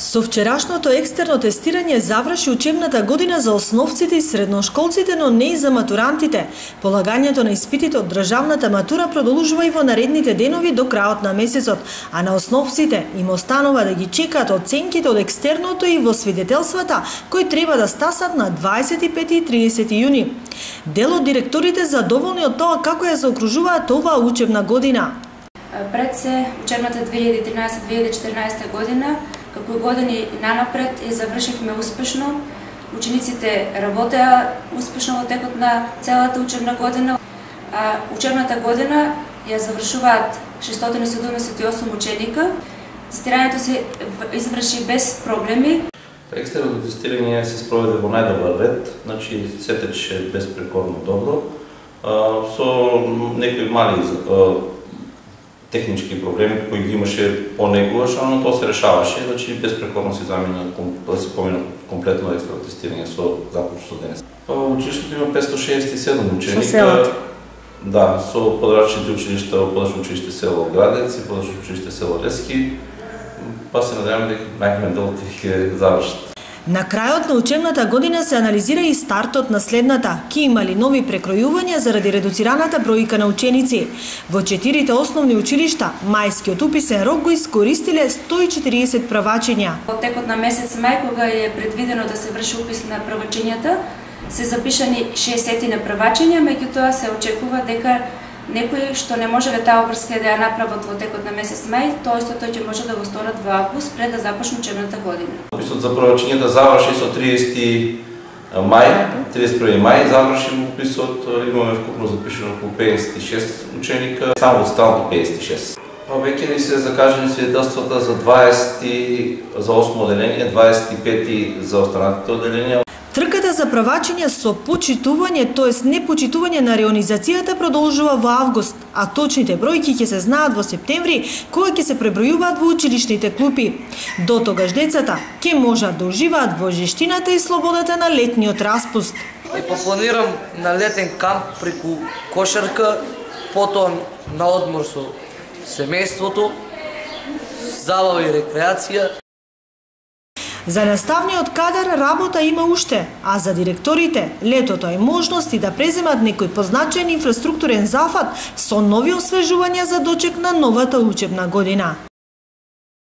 Со вчерашното екстерно тестирање заврши учебната година за основците и средношколците, но не и за матурантите. Полагањето на испитите од државната матура продолжува и во наредните денови до крајот на месецот, а на основците им останува да ги чекаат оценките од екстерното и во свидетелствата кои треба да стасат на 25 и 30 јуни. Дел од директорите задоволни од тоа како ја заокружуваат оваа учебна година. Пред се учебната 2013-2014 година, како години нанапред, ја завршивме успешно. Учениците работеа успешно во текот на целата учебна година. Учебната година ја завршуваат 678 ученика. Тестирањето се изврши без проблеми. Екстерното тестирање се спроведе во најдобар ред, значи се тече безпрекорно добро, со некои мали технички проблеми кои ги имаше понекогаш, но тоа се решаваше, значи безпрекорно се замина, се помина комплетно екстерно тестирање со започнато денес. Училиштето има 567 ученика. Да, со подрачните училишта, подрачно училиште село Градец и подрачно училиште село Лески, па се надеваме дека најголем дел ќе завршат. На крајот на учебната година се анализира и стартот на следната. Ки имали нови прекројувања заради редуцираната бројка на ученици. Во 4 основни училишта, мајскиот уписен рок го искористиле 140 правачења. Во текот на месец мај, кога е предвидено да се врши упис на правачењата, се запишани 60 на правачења, меѓутоа се очекува дека некои што не можеле таа обврска да ја направат во текот на месец мај, тоа истото ќе може да го сторат во август пред да започне учебната година. Уписот за правачењата заврши со 30 мај, 31 мај заврши уписот, имаме вкупно запишено околу 56 ученика, само од станото 56. Веќе ни се закажани свидетелствата за 20 за 8 оделение, 25 за останатите оделенија. Трката за правачење со почитување, тоест непочитување на реонизацијата продолжува во август, а точните бројки ќе се знаат во септември, кога ќе се пребројуваат во училишните клупи. До тогаш децата ќе можат да уживаат во жештината и слободата на летниот распуст. Планирам на летен камп преку кошарка, потоа на одмор со семејството, забава и рекреација. За наставниот кадар работа има уште, а за директорите летото е можност и да преземат некој позначаен инфраструктурен зафат со нови освежувања за дочек на новата учебна година.